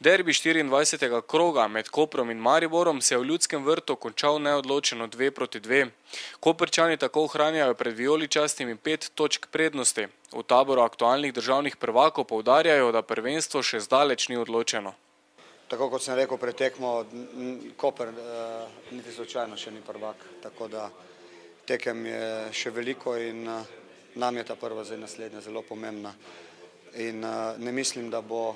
Derbi 24. kroga med Koprom in Mariborom se je v Ljudskem vrtu končal neodločeno 2-2. Koprčani tako ohranjajo pred vijoličastimi 5 točk prednosti. V taboru aktualnih državnih prvakov poudarjajo, da prvenstvo še zdaleč ni odločeno. Tako kot sem rekel pred tekmo, Koper niti slučajno še ni prvak, tako da tekem je še veliko in nam je ta prva zdaj naslednja zelo pomembna. In ne mislim, da bo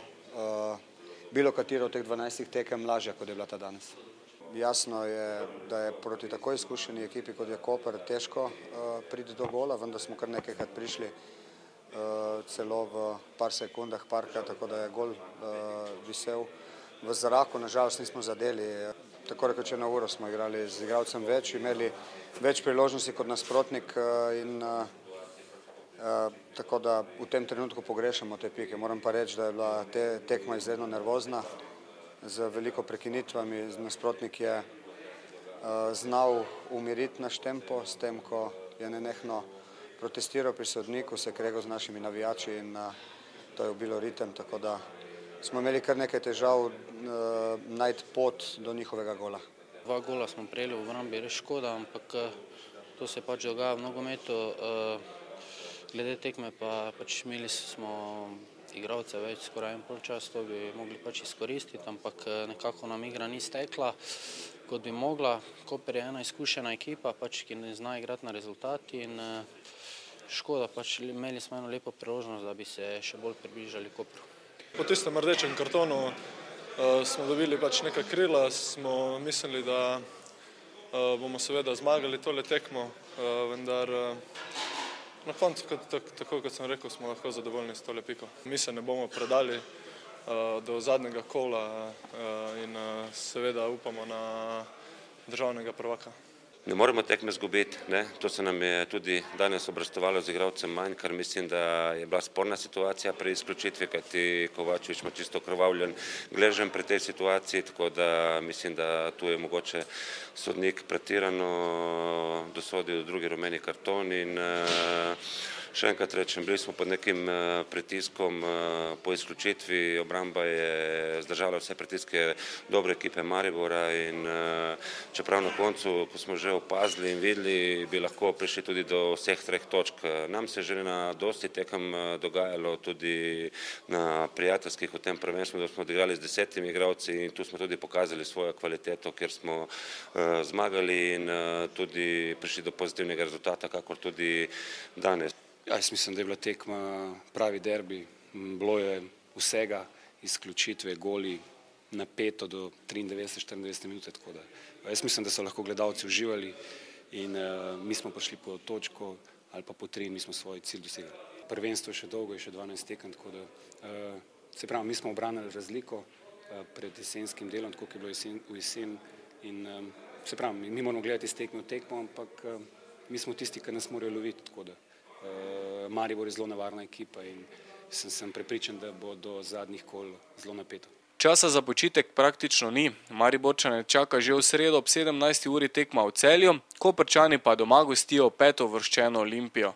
bilo katero od teh 12 tekem lažja, kot je bila ta danes. Jasno je, da je proti tako izkušeni ekipi, kot je Koper, težko priti do gola, vendar smo kar nekajkrat prišli celo v par sekundah parka, tako da je gol visel v zraku, nažalost nismo zadeli. Tako rekoč eno uro smo igrali z igralcem več, imeli več priložnosti kot nasprotnik in tako da v tem trenutku pogrešamo te pike. Moram pa reči, da je bila tekma izredno nervozna, z veliko prekinitvami. Nasprotnik je znal umiriti naš tempo, s tem, ko je nenehno protestiral pri sodniku, se kregal z našimi navijači in to je ubilo ritem, tako da smo imeli kar nekaj težav najti pot do njihovega gola. 2 gola smo prejeli v obrambi, res škoda, ampak to se pač dogaja v nogometu. Glede tekme pa pač imeli smo igralce več, skoraj en polčas, to bi mogli pač izkoristiti, ampak nekako nam igra ni stekla, kot bi mogla. Koper je ena izkušena ekipa, pač, ki ne zna igrati na rezultat in škoda, pač imeli smo eno lepo priložnost, da bi se še bolj približali Kopru. Po tistem rdečem kartonu smo dobili pač nekaj krila, smo mislili, da bomo seveda zmagali tole tekmo, vendar na koncu, tako kot sem rekel, smo lahko zadovoljni s tole piko. Mi se ne bomo predali do zadnjega kola in seveda upamo na državnega prvaka. Ne moremo tekme izgubiti, to se nam je tudi danes obrestovalo z igralcem manj, kar mislim, da je bila sporna situacija pri izključitvi, kajti Kovačević ima čisto okrvavljen gleženj pri tej situaciji, tako da mislim, da tu je mogoče sodnik pretirano dosodil drugi rumeni karton in še enkrat rečem, bili smo pod nekim pritiskom po izključitvi, obramba je zdržala vse pritiske dobre ekipe Maribora in čeprav na koncu, ko smo že opazili in videli, bi lahko prišli tudi do vseh 3 točk. Nam se je že na dosti tekem dogajalo tudi na prijateljskih v tem prvenstvu, da smo odigrali z 10 igralci in tu smo tudi pokazali svojo kvaliteto, kjer smo zmagali in tudi prišli do pozitivnega rezultata, kakor tudi danes. Jaz mislim, da je bila tekma pravi derbi, bilo je vsega, izključitve, goli, napeto do 93-94 minute, tako da jaz mislim, da so lahko gledalci uživali in mi smo prišli po točko ali pa po 3 in mi smo svoj cilj dosegli. Prvenstvo je še dolgo, je še 12 tekem, tako da se pravi, mi smo obranili razliko pred jesenskim delom, tako kot je bilo v jesen in se pravi, mi moramo gledati iz tekme v tekmo, ampak mi smo tisti, ki nas morajo loviti, tako da Maribor je zelo nevarna ekipa in sem prepričan, da bo do zadnjih kol zelo napeto. Časa za počitek praktično ni. Mariborčane čaka že v sredo ob 17. uri tekma v Celju, Koprčani pa doma gostijo 5. uvrščeno Olimpijo.